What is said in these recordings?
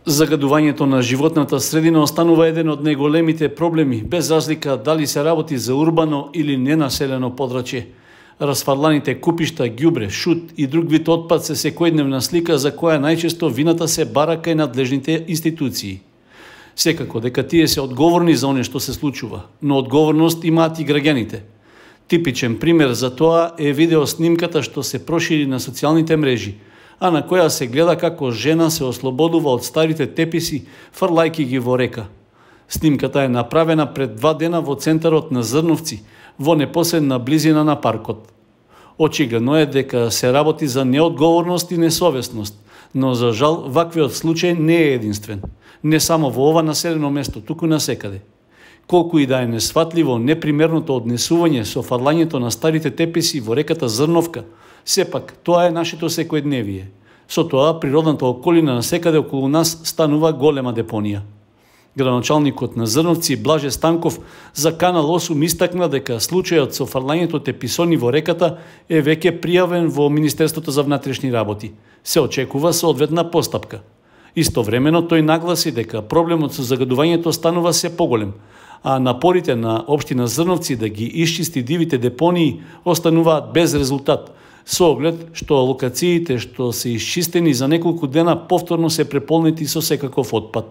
Загадувањето на животната средина останува еден од најголемите проблеми, без разлика дали се работи за урбано или ненаселено подрачје. Расфрланите купишта, ѓубре, шут и друг вид отпад се секојдневна слика за која најчесто вината се бара кај надлежните институции. Секако дека тие се одговорни за оне што се случува, но одговорност имаат и граѓаните. Типичен пример за тоа е видеоснимката што се прошири на социјалните мрежи, а на која се гледа како жена се ослободува од старите теписи, фрлајки ги во река. Снимката е направена пред 2 дена во центарот на Зрновци, во непосредна близина на паркот. Очигледно е дека се работи за неодговорност и несовесност, но за жал ваквиот случај не е единствен. Не само во ова населено место, туку насекаде. Колку и да е несфатливо непримерното однесување со фрлањето на старите теписи во реката Зрновка, сепак тоа е нашето секојдневие. Со тоа природната околина насекаде околу нас станува голема депонија. Градоначалникот на Зрновци Блаже Станков за Канал 8 истакна дека случајот со фрлањето теписони во реката е веќе пријавен во Министерството за внатрешни работи. Се очекува соодветна постапка. Истовремено тој нагласи дека проблемот со загадувањето станува се поголем, а напорите на општина Зрновци да ги исчисти дивите депонии остануваат без резултат, со оглед што локациите што се исчистени за неколку дена повторно се преполнети со секаков отпад.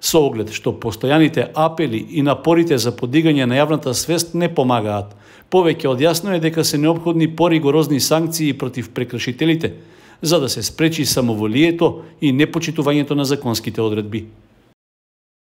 Со оглед што постојаните апели и напорите за подигање на јавната свест не помагаат, повеќе од јасно е дека се неопходни поригорозни санкции против прекршителите, за да се спречи самоволието и непочитувањето на законските одредби.